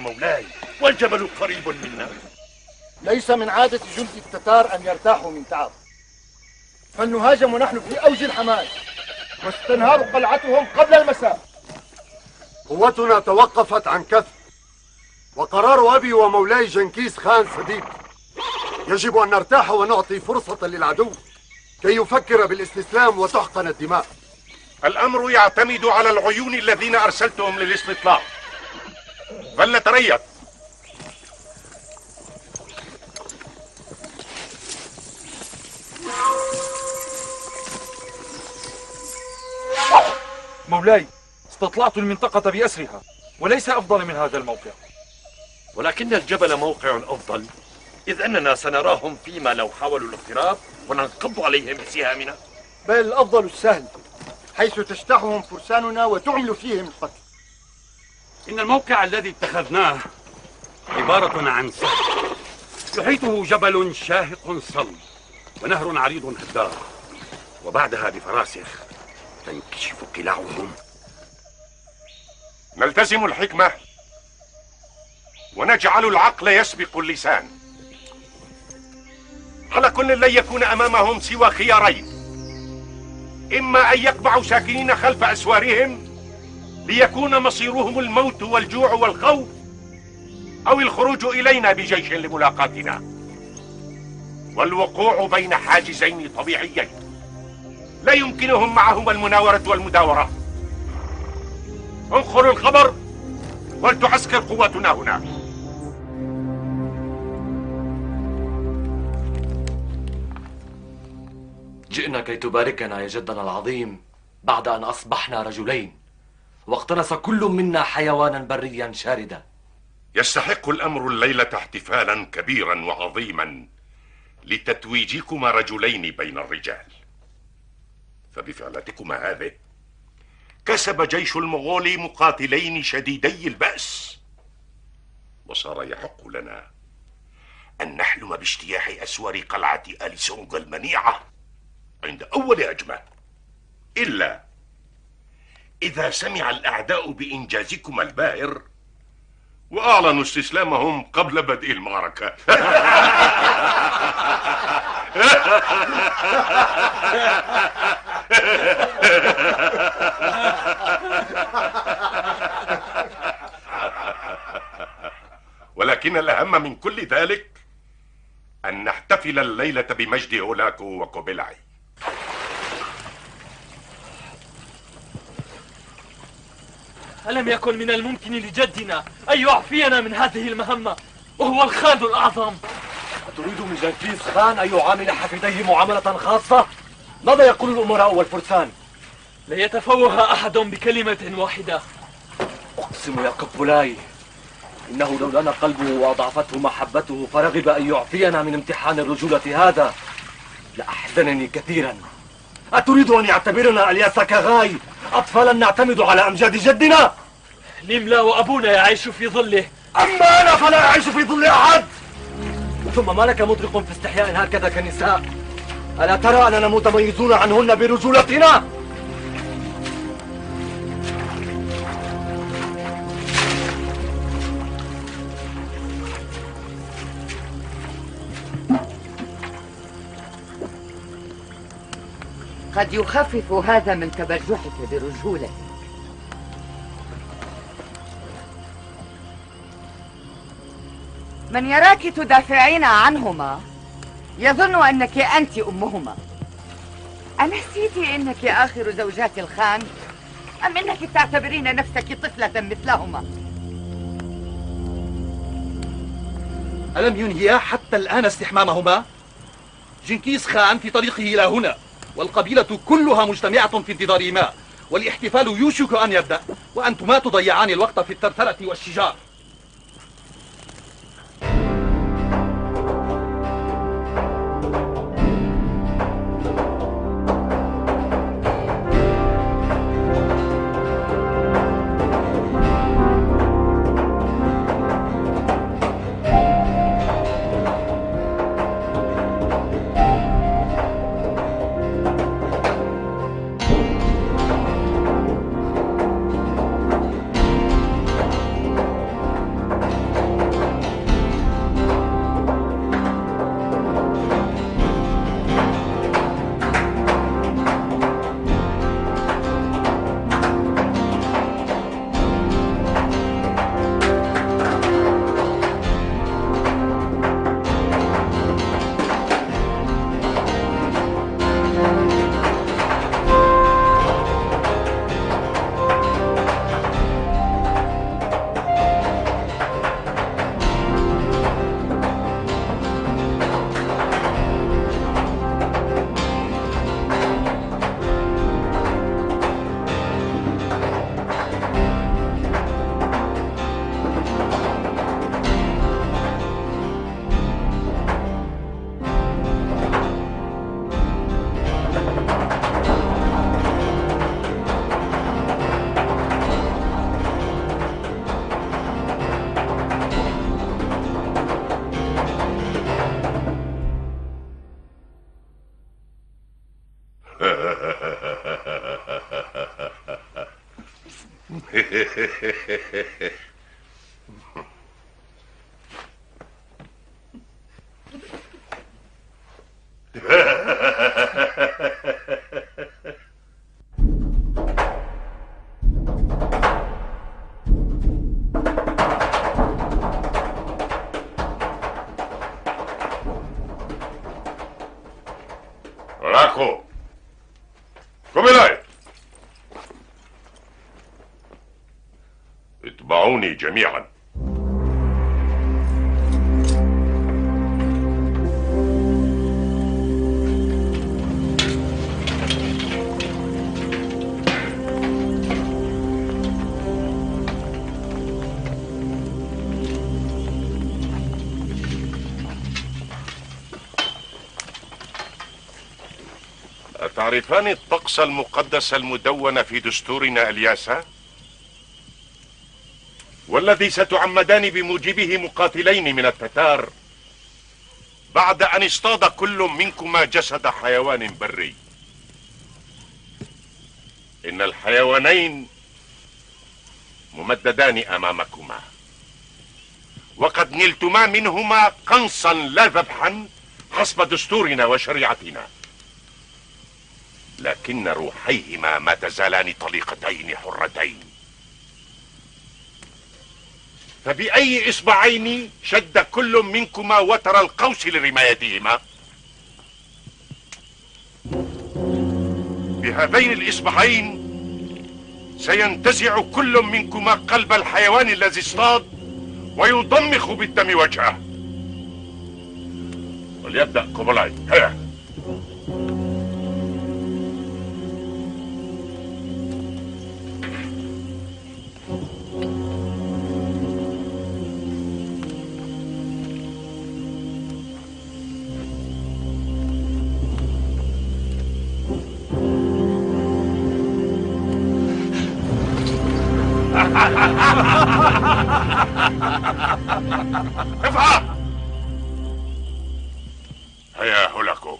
مولاي، والجبل قريب منا. ليس من عادة جند التتار أن يرتاحوا من تعب، فلنهاجم ونحن في أوج الحماس واستنهار قلعتهم قبل المساء. قوتنا توقفت عن كثب، وقرار أبي ومولاي جنكيز خان سديد. يجب أن نرتاح ونعطي فرصة للعدو كي يفكر بالاستسلام وتحقن الدماء. الأمر يعتمد على العيون الذين أرسلتهم للاستطلاع، فلنتريث. مولاي، استطلعت المنطقة بأسرها، وليس أفضل من هذا الموقع. ولكن الجبل موقع أفضل، إذ أننا سنراهم فيما لو حاولوا الاقتراب وننقض عليهم بسهامنا. بل الأفضل السهل، حيث تجتاحهم فرساننا وتعمل فيهم القتل. إن الموقع الذي اتخذناه عبارة عن سهل يحيطه جبل شاهق صلب ونهر عريض هدار، وبعدها بفراسخ تنكشف قلاعهم. نلتزم الحكمة ونجعل العقل يسبق اللسان. على كل لن يكون أمامهم سوى خيارين: إما أن يقبعوا ساكنين خلف أسوارهم ليكون مصيرهم الموت والجوع والخوف، أو الخروج إلينا بجيش لملاقاتنا، والوقوع بين حاجزين طبيعيين لا يمكنهم معهما المناورة والمداورة. انقلوا الخبر ولتعسكر قواتنا هنا. جئنا كي تباركنا يا جدنا العظيم بعد أن أصبحنا رجلين، واقتنص كل منا حيوانا بريا شاردا. يستحق الأمر الليلة احتفالا كبيرا وعظيما لتتويجكما رجلين بين الرجال، فبفعلتكما هذه كسب جيش المغول مقاتلين شديدي البأس، وصار يحق لنا أن نحلم باجتياح أسوار قلعة آل سونغ المنيعة عند أول هجمة، إلا إذا سمع الأعداء بإنجازكما الباهر وأعلنوا استسلامهم قبل بدء المعركة. ولكن الأهم من كل ذلك أن نحتفل الليلة بمجد هولاكو وكوبيلاي. ألم يكن من الممكن لجدنا أن يعفينا من هذه المهمة وهو الخان الأعظم؟ أتريد من جنكيز خان أن يعامل حفيديه معاملة خاصة؟ ماذا يقول الأمراء والفرسان؟ ليتفوه أحد بكلمة واحدة. أقسم يا كوبولاي إنه لو لنا قلبه وأضعفته محبته فرغب أن يعفينا من امتحان الرجولة هذا لأحزنني كثيرا. أتريد أن يعتبرنا الياس كغاي أطفالا نعتمد على أمجاد جدنا؟ نملا وأبونا يعيش في ظله، أما أنا فلا أعيش في ظل أحد. ثم ما لك مطرق في استحياء هكذا كنساء؟ ألا ترى أننا متميزون عنهن برجولتنا؟ قد يخفف هذا من تبجحك برجولتك. من يراك تدافعين عنهما يظن أنك أنت أمهما. أنسيت أنك آخر زوجات الخان؟ أم أنك تعتبرين نفسك طفلة مثلهما؟ ألم ينهيا حتى الآن استحمامهما؟ جنكيز خان في طريقه إلى هنا، والقبيلة كلها مجتمعة في انتظار والاحتفال يوشك أن يبدأ، وأنتما تضيعان الوقت في الثرثرة والشجار. راكو كوبيلاي، اتبعوني جميعا. أتعرفان الطقس المقدس المدون في دستورنا الياسا؟ والذي ستعمدان بموجبه مقاتلين من التتار بعد أن اصطاد كل منكما جسد حيوان بري. إن الحيوانين ممددان أمامكما، وقد نلتما منهما قنصا لا ذبحا حسب دستورنا وشريعتنا، لكن روحيهما ما تزالان طليقتين حرتين. فبأي إصبعين شد كل منكما وتر القوس لرمايتهما؟ بهذين الإصبعين سينتزع كل منكما قلب الحيوان الذي اصطاد ويضمخ بالدم وجهه. وليبدأ كوبيلاي. هيا. افعل. هيا هولاكو.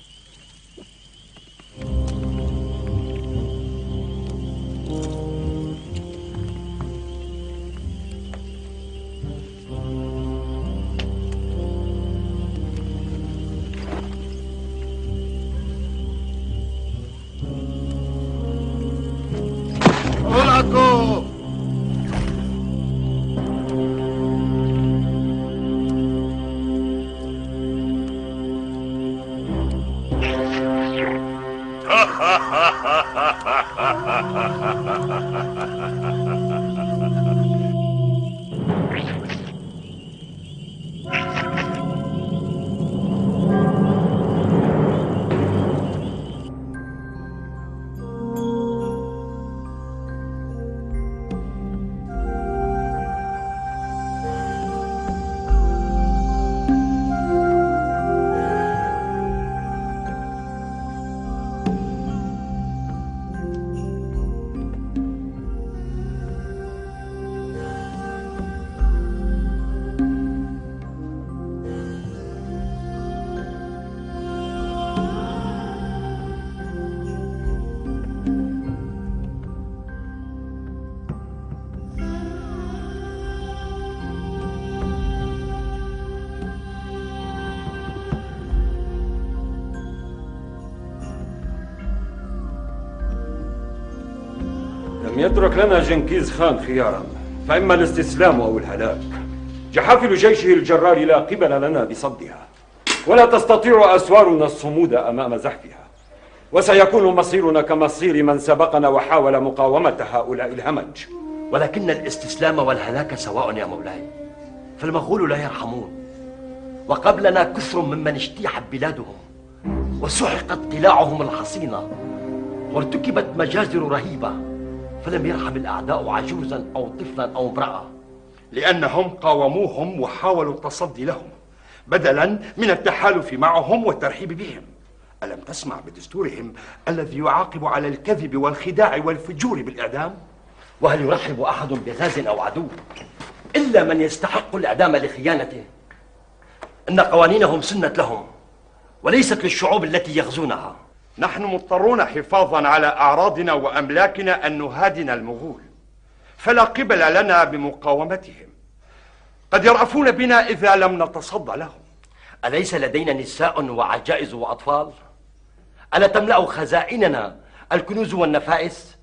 هولاكو. لم يترك لنا جنكيز خان خيارا، فإما الاستسلام أو الهلاك. جحافل جيشه الجرار لا قبل لنا بصدها، ولا تستطيع أسوارنا الصمود أمام زحفها، وسيكون مصيرنا كمصير من سبقنا وحاول مقاومة هؤلاء الهمج. ولكن الاستسلام والهلاك سواء يا مولاي، فالمغول لا يرحمون، وقبلنا كثر ممن اجتيحت بلادهم وسحقت قلاعهم الحصينة وارتكبت مجازر رهيبة، فلم يرحم الأعداء عجوزا أو طفلا أو امرأة، لأنهم قاوموهم وحاولوا التصدي لهم بدلا من التحالف معهم والترحيب بهم. ألم تسمع بدستورهم الذي يعاقب على الكذب والخداع والفجور بالإعدام؟ وهل يرحب أحد بغاز أو عدو إلا من يستحق الإعدام لخيانته؟ إن قوانينهم سنت لهم وليست للشعوب التي يغزونها. نحن مضطرون حفاظا على أعراضنا وأملاكنا أن نهادن المغول، فلا قبل لنا بمقاومتهم. قد يرأفون بنا إذا لم نتصدى لهم. أليس لدينا نساء وعجائز وأطفال؟ ألا تملأ خزائننا الكنوز والنفائس؟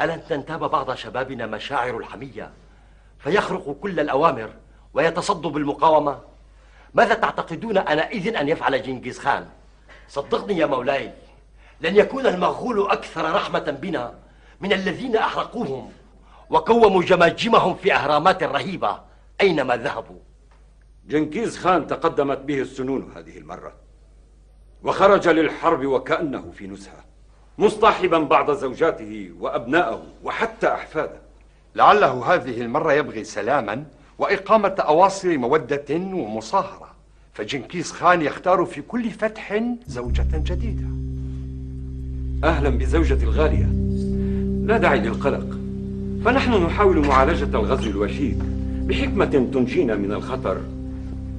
ألن تنتاب بعض شبابنا مشاعر الحمية فيخرق كل الأوامر ويتصدوا بالمقاومة؟ ماذا تعتقدون آنئذ أن يفعل جنكيز خان؟ صدقني يا مولاي، لن يكون المغول أكثر رحمة بنا من الذين أحرقوهم وكوموا جماجمهم في أهرامات رهيبة أينما ذهبوا. جنكيز خان تقدمت به السنون هذه المرة، وخرج للحرب وكأنه في نزهة، مصطحبا بعض زوجاته وأبنائه وحتى أحفاده. لعله هذه المرة يبغي سلاما وإقامة أواصر مودة ومصاهرة، فجنكيز خان يختار في كل فتح زوجة جديدة. أهلا بزوجتي الغالية، لا داعي للقلق، فنحن نحاول معالجة الغزو الوشيك بحكمة تنجينا من الخطر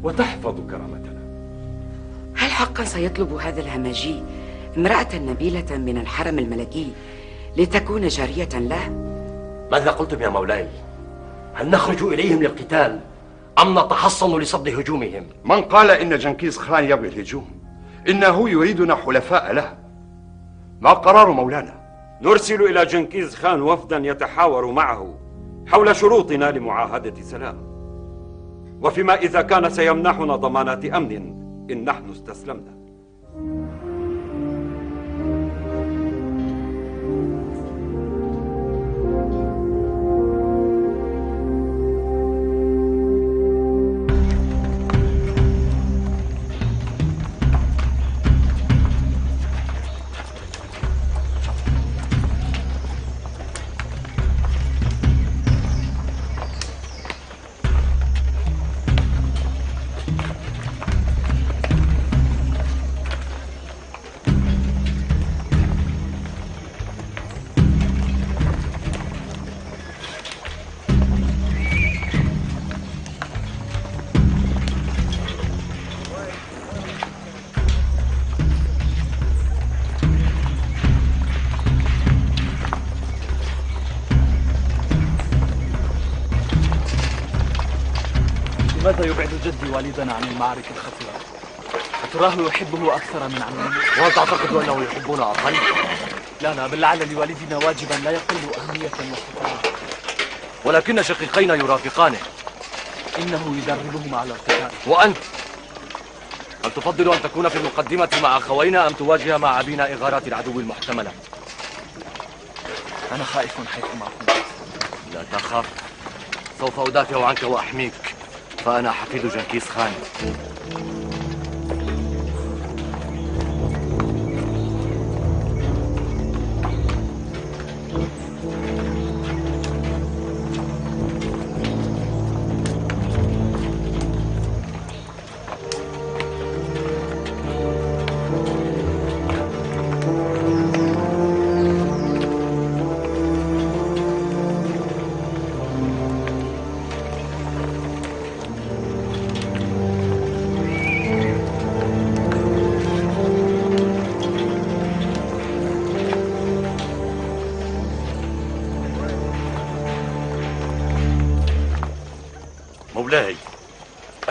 وتحفظ كرامتنا. هل حقا سيطلب هذا الهمجي امرأة نبيلة من الحرم الملكي لتكون جارية له؟ ماذا قلتم يا مولاي؟ هل نخرج إليهم للقتال أم نتحصن لصد هجومهم؟ من قال إن جنكيز خان يبغي الهجوم؟ إنه يريدنا حلفاء له. ما قرار مولانا؟ نرسل إلى جنكيز خان وفدا يتحاور معه حول شروطنا لمعاهدة سلام، وفيما إذا كان سيمنحنا ضمانات أمن إن نحن استسلمنا. لماذا يبعد جدي والدنا عن المعارك الخطيرة؟ أتراه يحبه أكثر من عمه؟ وهل تعتقد أنه يحبنا أقل؟ لا، بل لعل لوالدنا واجبا لا يقل أهمية وخطورة. ولكن شقيقينا يرافقانه. إنه يدربهما على القتال. وأنت؟ هل تفضل أن تكون في المقدمة مع أخوينا أم تواجه مع أبينا إغارات العدو المحتملة؟ أنا خائف حيثما كنت. لا تخف، سوف أدافع عنك وأحميك، فأنا حفيد جنكيز خان. مولاي،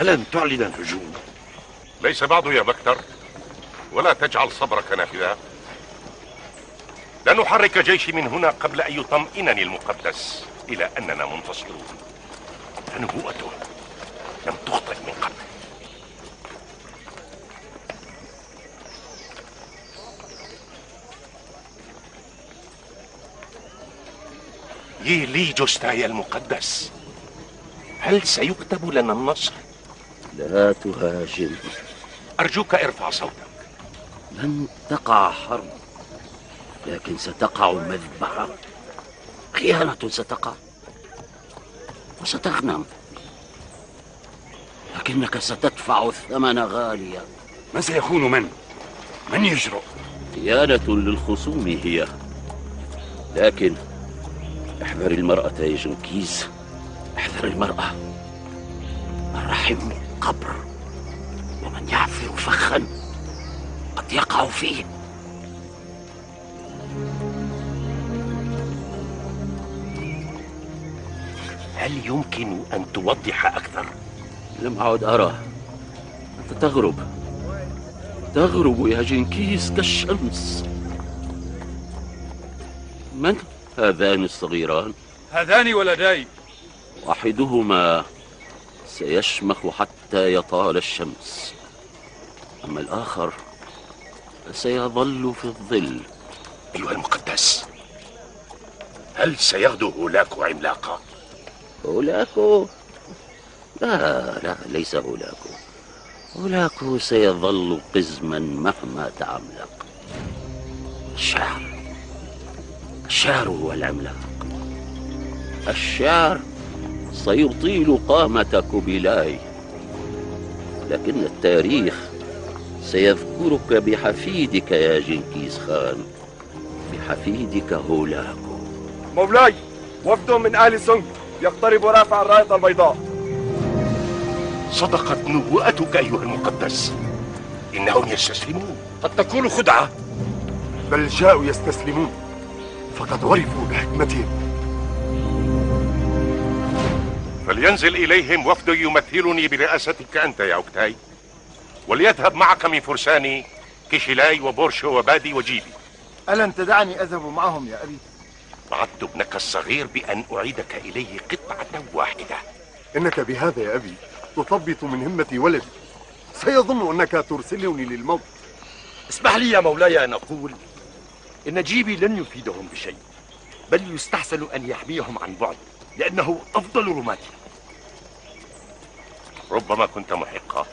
ألن تعلن الهجوم؟ ليس بعد يا بكتر، ولا تجعل صبرك نافذا. لن نحرك جيشي من هنا قبل أن يطمئنني المقدس إلى أننا منتصرون، فنبوءته لم تخطئ من قبل. يلي جوستايا المقدس، هل سيكتب لنا النصر؟ لا تهاجم. أرجوك ارفع صوتك. لن تقع حرب، لكن ستقع مذبحة. خيانة ستقع وستغنم، لكنك ستدفع الثمن غاليا. من سيكون من يجرؤ؟ خيانة للخصوم هي، لكن احذر المرأة يا جنكيز، احذر المرأة. الرحم قبر، ومن يعفر فخا قد يقع فيه. هل يمكن أن توضح أكثر؟ لم أعد أرى. أنت تغرب يا جنكيز كالشمس. من هذان الصغيران؟ هذان ولداي. واحدهما سيشمخ حتى يطال الشمس، أما الآخر فسيظل في الظل. أيها المقدس، هل سيغدو هولاكو عملاقا؟ هولاكو؟ لا، ليس هولاكو. هولاكو سيظل قزما مهما تعملق. الشعر هو العملاق. الشعر سيطيل قامة كوبيلاي، لكن التاريخ سيذكرك بحفيدك يا جنكيز خان، بحفيدك هولاكو. مولاي، وفد من آل سونغ يقترب رافع الراية البيضاء. صدقت نبوءتك أيها المقدس، إنهم يستسلمون. قد تكون خدعة، بل جاءوا يستسلمون، فقد عرفوا بحكمتهم. فلينزل إليهم وفد يمثلني برئاستك أنت يا أوكتاي، وليذهب معك من فرساني كيشيلاي وبورشو وبادي وجيبي. ألن تدعني أذهب معهم يا أبي؟ وعدت ابنك الصغير بأن أعيدك إليه قطعة واحدة. إنك بهذا يا أبي تثبط من همة ولدي، سيظن أنك ترسلني للموت. اسمح لي يا مولاي أن أقول إن جيبي لن يفيدهم بشيء، بل يستحسن أن يحميهم عن بعد، لأنه أفضل رماتي. ربما كنت محقا.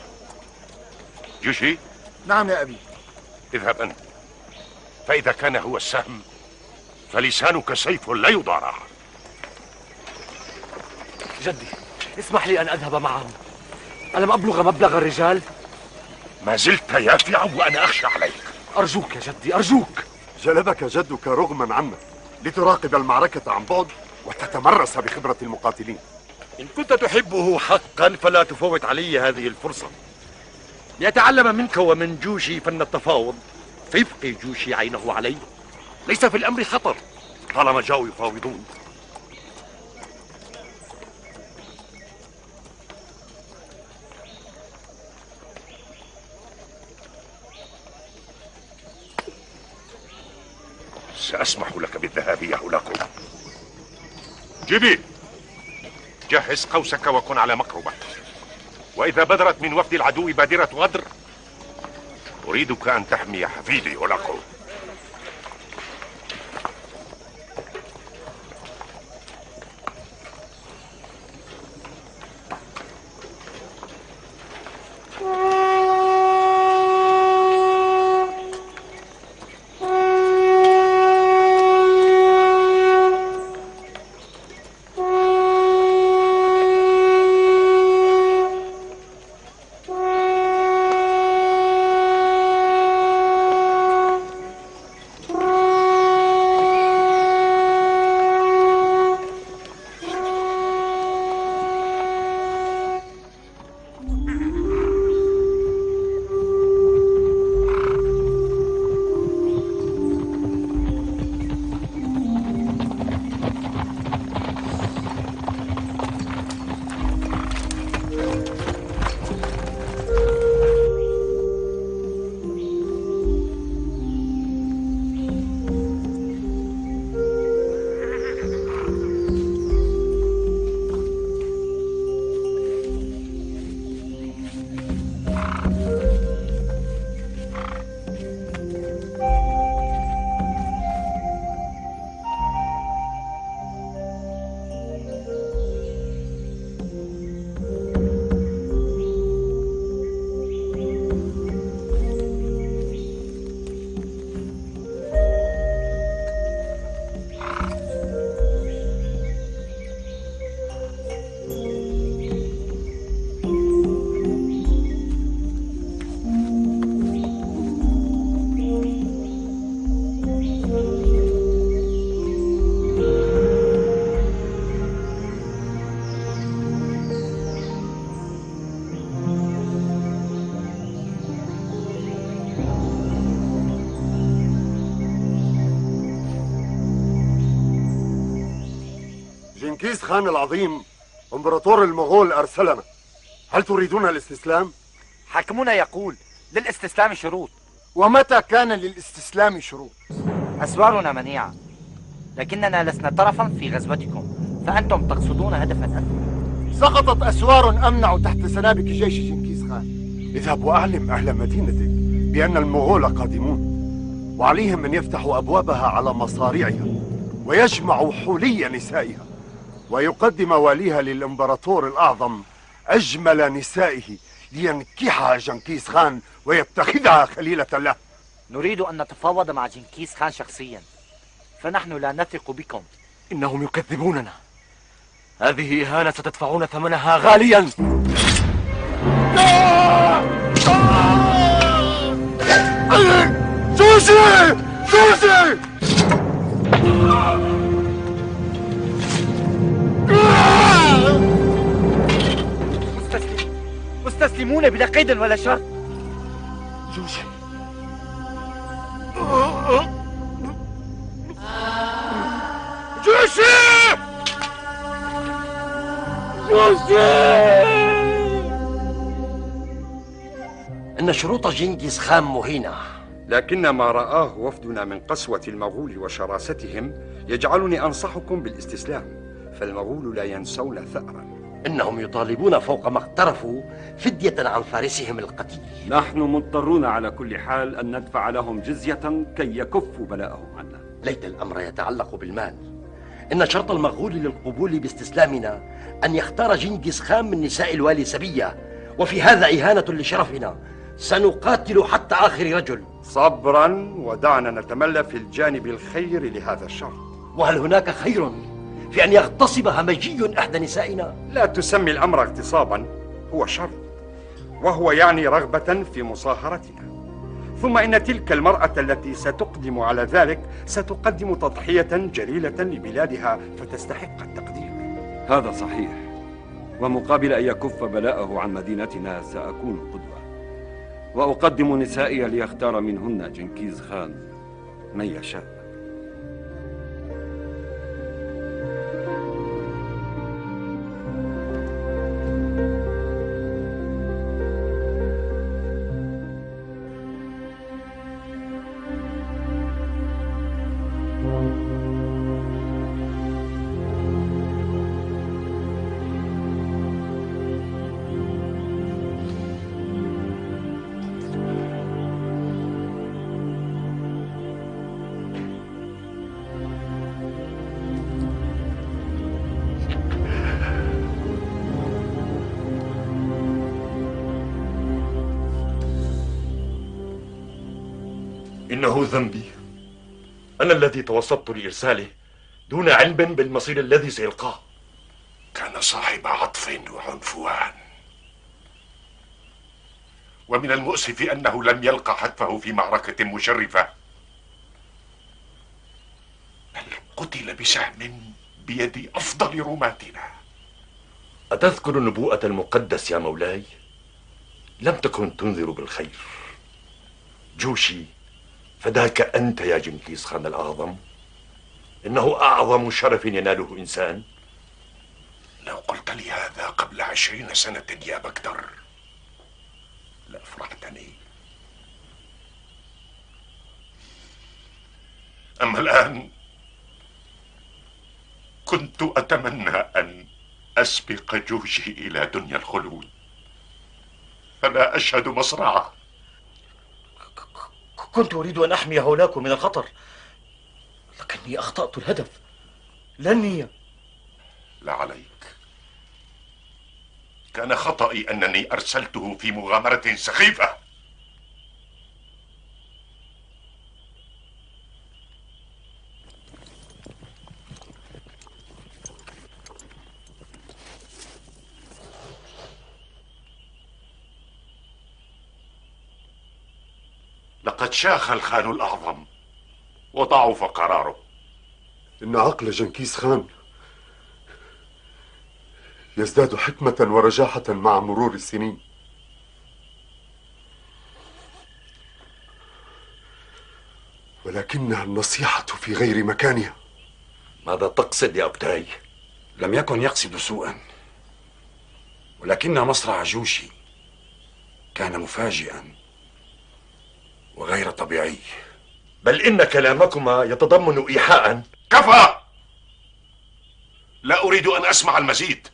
جوشي؟ نعم يا أبي. اذهب أنت، فإذا كان هو السهم فلسانك سيف لا يضارع. جدي، اسمح لي أن أذهب معهم. ألم أبلغ مبلغ الرجال؟ ما زلت يافعا وأنا أخشى عليك. أرجوك يا جدي، أرجوك. جلبك جدك رغما عنك لتراقب المعركة عن بعد وتتمرس بخبرة المقاتلين. إن كنت تحبه حقا فلا تفوت علي هذه الفرصة ليتعلم منك ومن جوشي فن التفاوض، فيبقي جوشي عينه علي. ليس في الأمر خطر طالما جاءوا يفاوضون. سأسمح لك بالذهاب يا هولاكو. جيبي، جهز قوسك وكن على مقربة، وإذا بدرت من وفد العدو بادرة غدر أريدك أن تحمي حفيدي هولاكو. جنكيز خان العظيم امبراطور المغول أرسلنا. هل تريدون الاستسلام؟ حاكمنا يقول للاستسلام شروط. ومتى كان للاستسلام شروط؟ أسوارنا منيعة، لكننا لسنا طرفا في غزوتكم، فأنتم تقصدون هدفا أثمن. سقطت أسوار أمنع تحت سنابك جيش جنكيز خان. اذهب وأعلم أهل مدينتك بأن المغول قادمون، وعليهم أن يفتحوا أبوابها على مصاريعها ويجمعوا حلي نسائها، ويقدم واليها للإمبراطور الأعظم أجمل نسائه لينكحها جنكيز خان ويتخذها خليلة له. نريد أن نتفاوض مع جنكيز خان شخصيا، فنحن لا نثق بكم. إنهم يكذبوننا. هذه إهانة ستدفعون ثمنها غاليا. جوشي! جوشي! مستسلمون بلا قيد ولا شرط. جوشي! جوشي! جوشي! إن شروط جنكيز خان مهينة، لكن ما رآه وفدنا من قسوة المغول وشراستهم يجعلني أنصحكم بالاستسلام، فالمغول لا ينسون ثأرا. إنهم يطالبون فوق ما اقترفوا فدية عن فارسهم القتيل. نحن مضطرون على كل حال أن ندفع لهم جزية كي يكفوا بلاءهم عنا. ليت الأمر يتعلق بالمال. إن شرط المغول للقبول باستسلامنا أن يختار جنكيز خان من نساء الوالي سبية، وفي هذا إهانة لشرفنا. سنقاتل حتى آخر رجل. صبرا، ودعنا نتملى في الجانب الخير لهذا الشرط. وهل هناك خير في أن يغتصب همجي إحدى نسائنا؟ لا تسمي الأمر اغتصابا، هو شرط، وهو يعني رغبة في مصاهرتنا. ثم إن تلك المرأة التي ستقدم على ذلك ستقدم تضحية جليلة لبلادها فتستحق التقدير. هذا صحيح، ومقابل أن يكف بلاءه عن مدينتنا سأكون قدوة، وأقدم نسائي ليختار منهن جنكيز خان من يشاء. إنه ذنبي، أنا الذي توسطت لإرساله دون علم بالمصير الذي سيلقاه. كان صاحب عطف وعنفوان، ومن المؤسف أنه لم يلقى حتفه في معركة مشرفة، بل قتل بسهم بيد أفضل رماتنا. أتذكر النبوءة المقدس يا مولاي؟ لم تكن تنذر بالخير. جوشي، فداك أنت يا جنكيز خان الأعظم، إنه أعظم شرف يناله إنسان. لو قلت لي هذا قبل 20 سنة يا بكتر لأفرحتني، أما الآن كنت أتمنى أن أسبق جوشي إلى دنيا الخلود فلا أشهد مصرعه. كنت أريد أن أحمي هولاكم من الخطر، لكني أخطأت الهدف، لا النية. لا عليك، كان خطأي أنني أرسلته في مغامرة سخيفة. لقد شاخ الخان الأعظم وضعف قراره. إن عقل جنكيز خان يزداد حكمة ورجاحة مع مرور السنين. ولكنها النصيحة في غير مكانها. ماذا تقصد يا أبتاي؟ لم يكن يقصد سوءا، ولكن مصرع جوشي كان مفاجئا وغير طبيعي. بل إن كلامكما يتضمن إيحاء. كفى! لا أريد أن أسمع المزيد.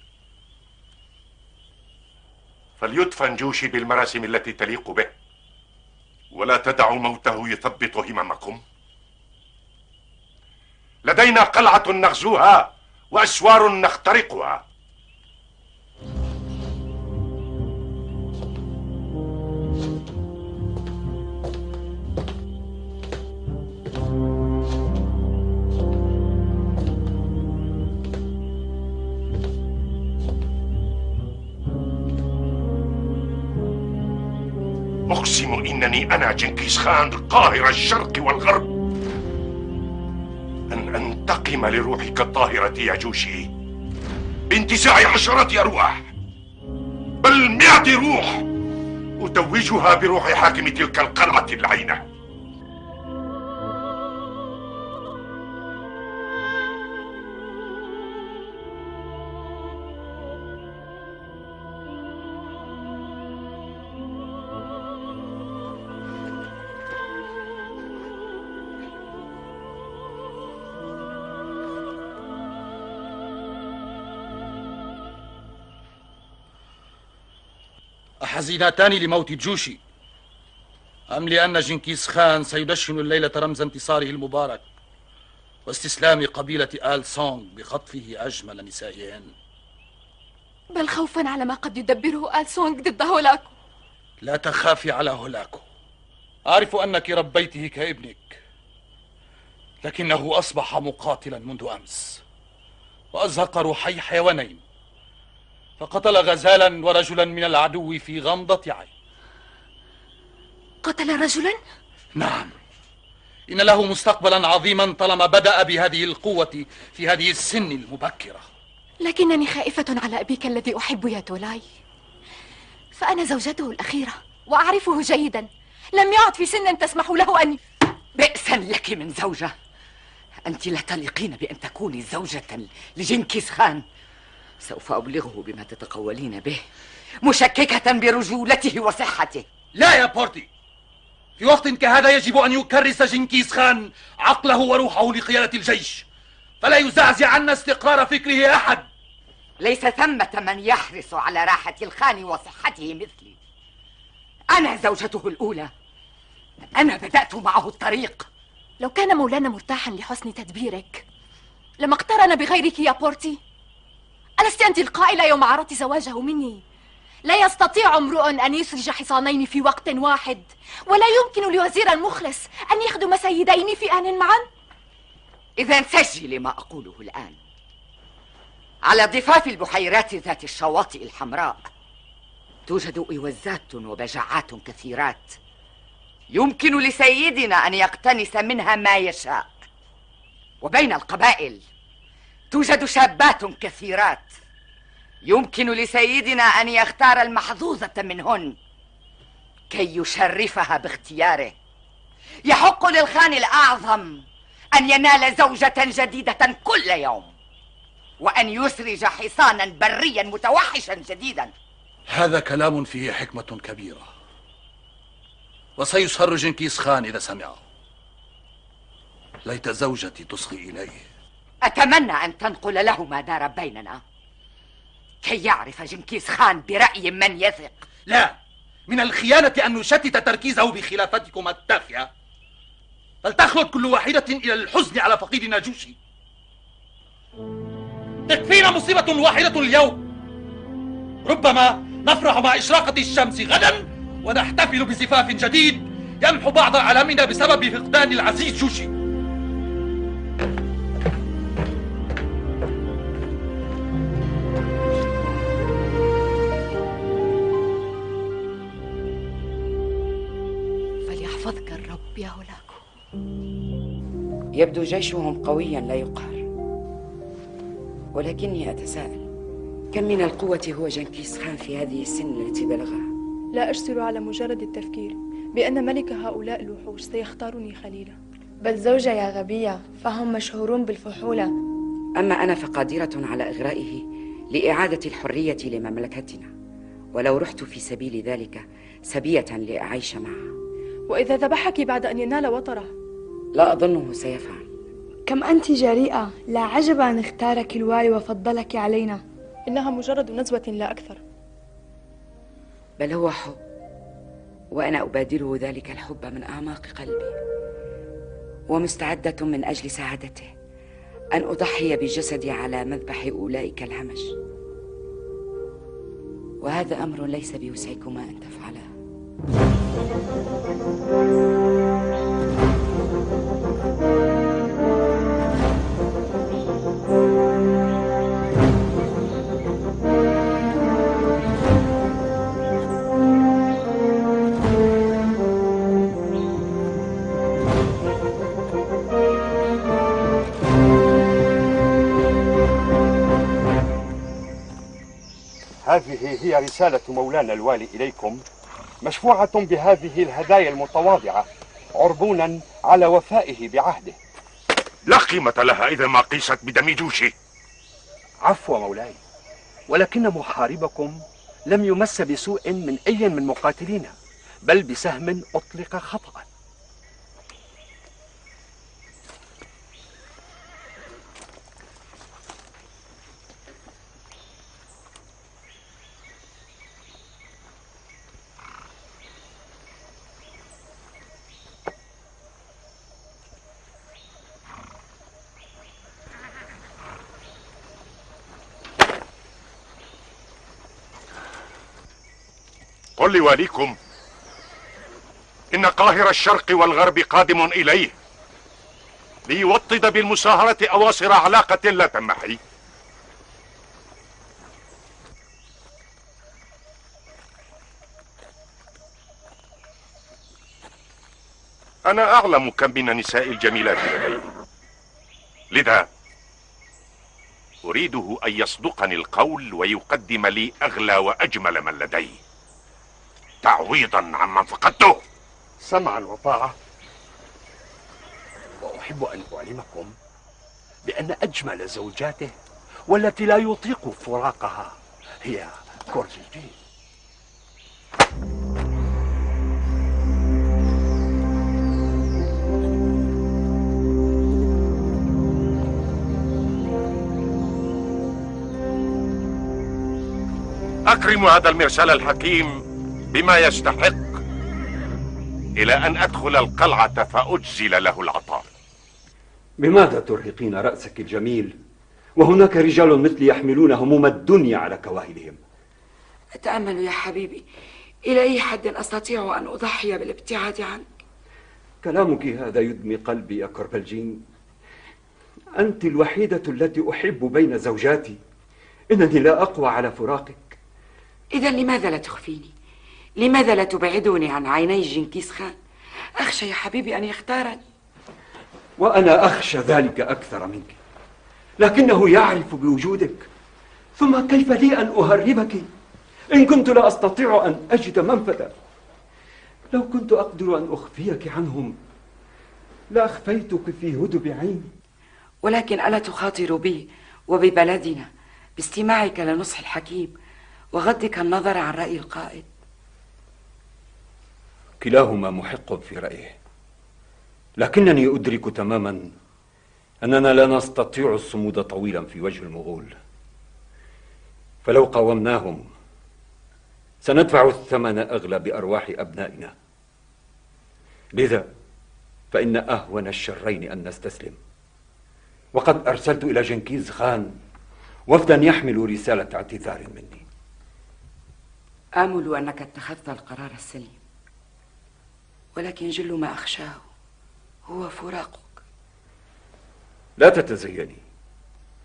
فليدفن جوشي بالمراسم التي تليق به، ولا تدعوا موته يثبط هممكم. لدينا قلعة نغزوها وأسوار نخترقها. أقسم إنني أنا جنكيز خان قاهر الشرق والغرب أن أنتقم لروحك الطاهرة يا جوشي بانتزاع عشرات أرواح، بل 100 روح أتوجها بروح حاكم تلك القلعة اللعينة. أحزينتان لموت جوشي أم لأن جنكيز خان سيدشن الليلة رمز انتصاره المبارك واستسلام قبيلة آل سونغ بخطفه أجمل نسائهن؟ بل خوفا على ما قد يدبره آل سونغ ضد هولاكو. لا تخافي على هولاكو، أعرف أنك ربيته كابنك، لكنه أصبح مقاتلا منذ أمس وأزهق روحي حيوانين، فقتل غزالا ورجلا من العدو في غمضة عين. قتل رجلا؟ نعم، إن له مستقبلا عظيما طالما بدأ بهذه القوة في هذه السن المبكرة. لكنني خائفة على أبيك الذي أحب يا تولاي، فأنا زوجته الأخيرة وأعرفه جيدا، لم يعد في سن تسمح له أن... بئسا لك من زوجة، أنت لا تليقين بأن تكوني زوجة لجنكيز خان. سوف أبلغه بما تتقولين به، مشككة برجولته وصحته. لا يا بورتي، في وقت كهذا يجب أن يكرس جنكيز خان عقله وروحه لقيادة الجيش، فلا يزعزع عنا استقرار فكره أحد. ليس ثمة من يحرص على راحة الخان وصحته مثلي. أنا زوجته الأولى، أنا بدأت معه الطريق. لو كان مولانا مرتاحا لحسن تدبيرك لما اقترن بغيرك يا بورتي. ألست أنت القائلة يوم عرضت زواجه مني؟ لا يستطيع امرؤ أن يسرج حصانين في وقت واحد، ولا يمكن لوزير مخلص أن يخدم سيدين في آن معا. إذا سجلي ما أقوله الآن. على ضفاف البحيرات ذات الشواطئ الحمراء توجد إوزات وبجعات كثيرات، يمكن لسيدنا أن يقتنس منها ما يشاء. وبين القبائل توجد شابات كثيرات، يمكن لسيدنا أن يختار المحظوظة منهن كي يشرفها باختياره. يحق للخان الأعظم أن ينال زوجة جديدة كل يوم، وأن يسرج حصانا بريا متوحشا جديدا. هذا كلام فيه حكمة كبيرة، وسيسر جنكيز خان إذا سمعه. ليت زوجتي تصغي إليه. أتمنى أن تنقل له ما دار بيننا كي يعرف جنكيز خان برأي من يثق. لا، من الخيانة أن نشتت تركيزه بخلافتكم التافهة، فلتخلد كل واحدة إلى الحزن على فقيدنا جوشي. تكفينا مصيبة واحدة اليوم، ربما نفرح مع إشراقة الشمس غدا ونحتفل بزفاف جديد يمحو بعض ألامنا بسبب فقدان العزيز جوشي. فليحفظك الرب يا هولاكو. يبدو جيشهم قويا لا يقهر، ولكني أتساءل كم من القوة هو جنكيز خان في هذه السن التي بلغها؟ لا أجسر على مجرد التفكير بأن ملك هؤلاء الوحوش سيختارني خليلا. بل زوجة يا غبية، فهم مشهورون بالفحولة. أما أنا فقادرة على إغرائه لإعادة الحرية لمملكتنا. ولو رحت في سبيل ذلك سبية لأعيش معها. وإذا ذبحك بعد أن ينال وطره؟ لا أظنه سيفعل. كم أنت جريئة، لا عجب أن اختارك الوالي وفضلك علينا. إنها مجرد نزوة لا أكثر. بل هو حب، وأنا أبادله ذلك الحب من أعماق قلبي، ومستعدة من أجل سعادته أن أضحي بجسدي على مذبح أولئك الهمج، وهذا أمر ليس بوسعكما أن تفعله. هذه هي رسالة مولانا الوالي إليكم، مشفوعة بهذه الهدايا المتواضعة عربونا على وفائه بعهده. لا قيمة لها إذا ما قيست بدم جوشي. عفو مولاي، ولكن محاربكم لم يمس بسوء من أي من مقاتلينا، بل بسهم أطلق خطأ. قل لواليكم إن قاهر الشرق والغرب قادم إليه ليوطد بالمساهرة أواصر علاقة لا تنمحي. أنا أعلم كم من النساء الجميلات لديه، لذا أريده أن يصدقني القول ويقدم لي أغلى وأجمل من لديه تعويضا عمن فقدته. سمعا وطاعة. وأحب أن أعلمكم بأن أجمل زوجاته والتي لا يطيق فراقها هي كورزيجين. أكرم هذا المرسال الحكيم بما يستحق إلى أن أدخل القلعة فأجزل له العطاء. بماذا ترهقين رأسك الجميل وهناك رجال مثلي يحملون هموم الدنيا على كواهلهم؟ أتأمل يا حبيبي إلى أي حد أستطيع أن أضحي بالابتعاد عنك؟ كلامك هذا يدمي قلبي يا كوربلجين. أنت الوحيدة التي أحب بين زوجاتي. إنني لا أقوى على فراقك. إذا لماذا لا تخفيني؟ لماذا لا تبعدني عن عيني جنكيز خان؟ أخشى يا حبيبي أن يختارني. وأنا أخشى ذلك أكثر منك، لكنه يعرف بوجودك. ثم كيف لي أن أهربك إن كنت لا أستطيع أن أجد منفذا؟ لو كنت أقدر أن أخفيك عنهم لأخفيتك في هدب عيني. ولكن ألا تخاطر بي وببلدنا باستماعك لنصح الحكيم وغضك النظر عن رأي القائد؟ كلاهما محق في رأيه، لكنني أدرك تماما أننا لا نستطيع الصمود طويلا في وجه المغول، فلو قاومناهم سندفع الثمن أغلى بأرواح أبنائنا. لذا فإن أهون الشرين أن نستسلم، وقد أرسلت إلى جنكيز خان وفدا يحمل رسالة اعتذار مني. آمل أنك اتخذت القرار السليم، ولكن جل ما أخشاه هو فراقك. لا تتزيني،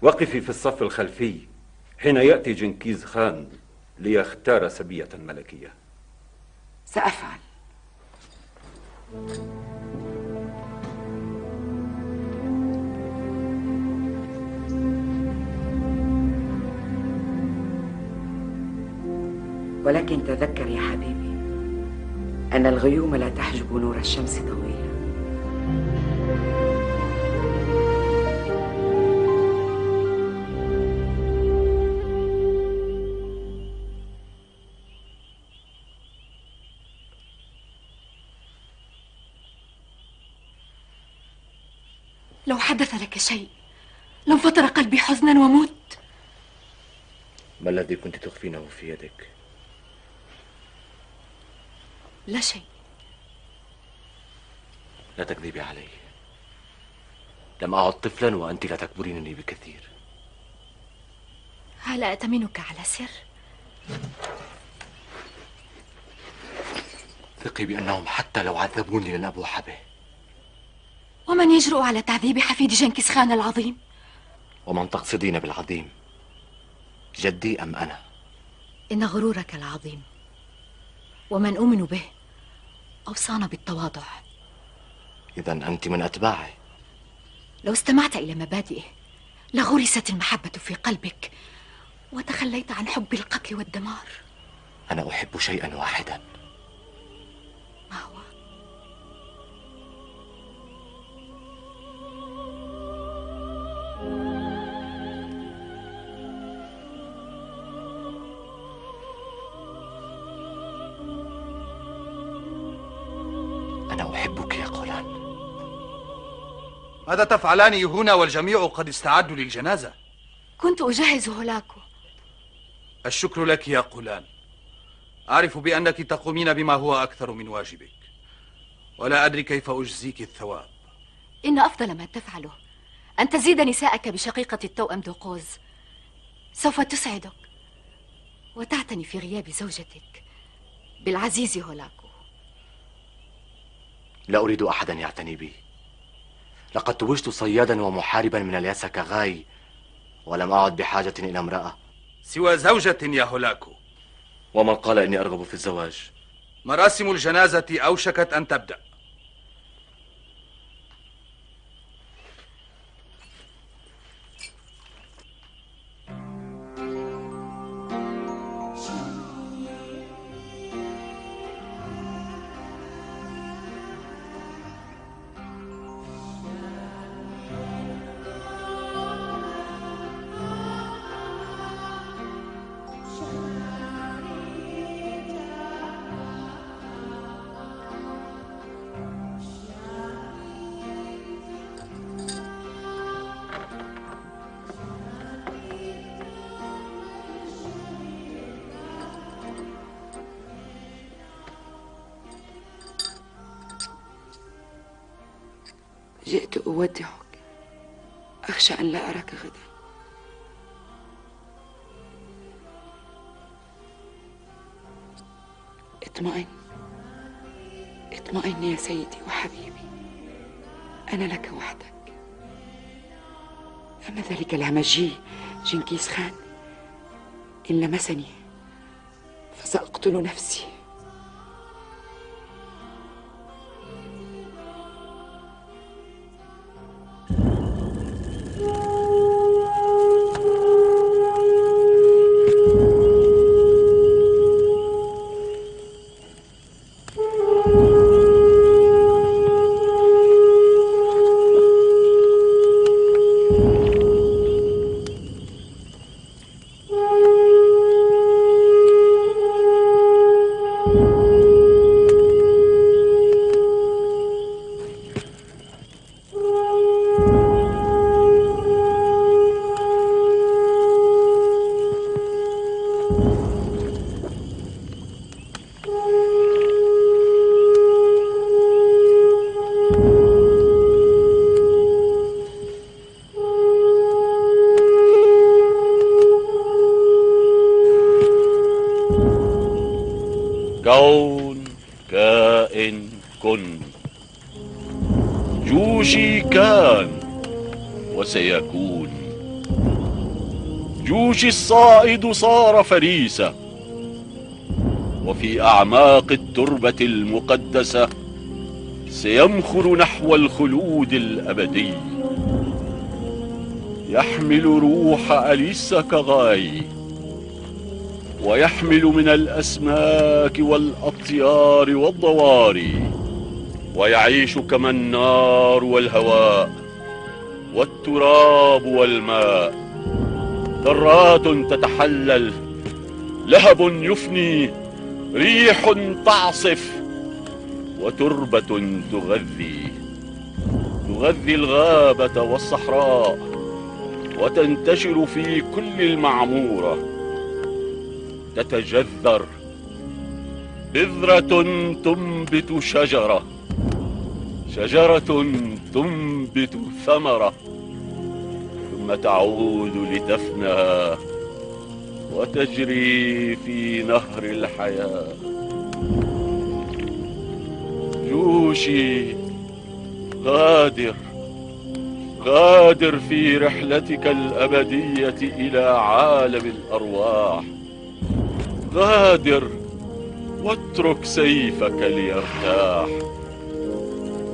وقفي في الصف الخلفي حين يأتي جنكيز خان ليختار سبية ملكية. سأفعل. ولكن تذكر يا حبيبي أن الغيوم لا تحجب نور الشمس طويلا. لو حدث لك شيء لانفطر قلبي حزنا ومت. ما الذي كنت تخفينه في يدك؟ لا شيء. لا تكذبي علي. لم أعد طفلا وأنت لا تكبرينني بكثير. هل أأتمنك على سر؟ ثقي بأنهم حتى لو عذبوني لن أبوح به. ومن يجرؤ على تعذيب حفيد جنكيز خان العظيم؟ ومن تقصدين بالعظيم، جدي أم أنا؟ إن غرورك العظيم ومن أؤمن به أوصانا بالتواضع. إذا أنت من أتباعي. لو استمعت إلى مبادئه لغرست المحبة في قلبك وتخليت عن حب القتل والدمار. أنا أحب شيئا واحدا. ما هو؟ أنا أحبك يا قولان. ماذا تفعلان هنا والجميع قد استعدوا للجنازة؟ كنت أجهز هولاكو. الشكر لك يا قولان. أعرف بأنك تقومين بما هو أكثر من واجبك، ولا أدري كيف أجزيك الثواب. إن أفضل ما تفعله أن تزيد نساءك بشقيقة التوأم دوقوز. سوف تسعدك وتعتني في غياب زوجتك بالعزيز هولاكو. لا أريد أحدا يعتني بي. لقد توجت صيادا ومحاربا من الياساكاغاي ولم أعد بحاجة إلى امرأة سوى زوجة يا هولاكو. ومن قال إني أرغب في الزواج؟ مراسم الجنازة أوشكت أن تبدأ. جئت أودعك، أخشى أن لا أراك غدا. اطمئن اطمئن يا سيدي وحبيبي، أنا لك وحدك. أما ذلك الهمجي جنكيز خان إن لمسني فسأقتل نفسي. كون كائن كن. جوشي كان وسيكون. جوشي الصائد صار فريسة، وفي أعماق التربة المقدسة سيمخر نحو الخلود الأبدي. يحمل روح اليساكاغاي، ويحمل من الأسماك والأطيار والضواري، ويعيش كما النار والهواء والتراب والماء. ذرات تتحلل، لهب يفني، ريح تعصف، وتربة تغذي. تغذي الغابة والصحراء وتنتشر في كل المعمورة، تتجذر، بذرة تنبت شجرة، شجرة تنبت ثمرة، ثم تعود لتفنى وتجري في نهر الحياة. جوشي، غادر، غادر في رحلتك الأبدية إلى عالم الأرواح. غادر واترك سيفك ليرتاح.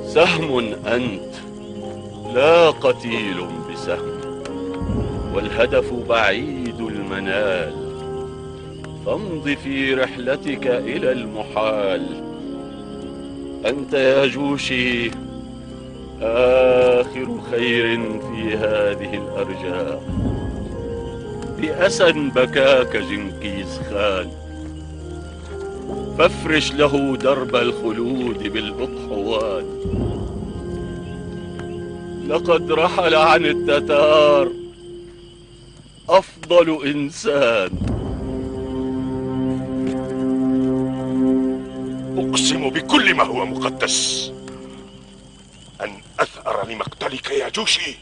سهم أنت، لا قتيل بسهم، والهدف بعيد المنال. فامض في رحلتك إلى المحال. أنت يا جوشي آخر خير في هذه الأرجاء. بأسى بكاك جنكيز خان، فافرش له درب الخلود بالأضحوات. لقد رحل عن التتار أفضل إنسان. أقسم بكل ما هو مقدس أن أثأر لمقتلك يا جوشي.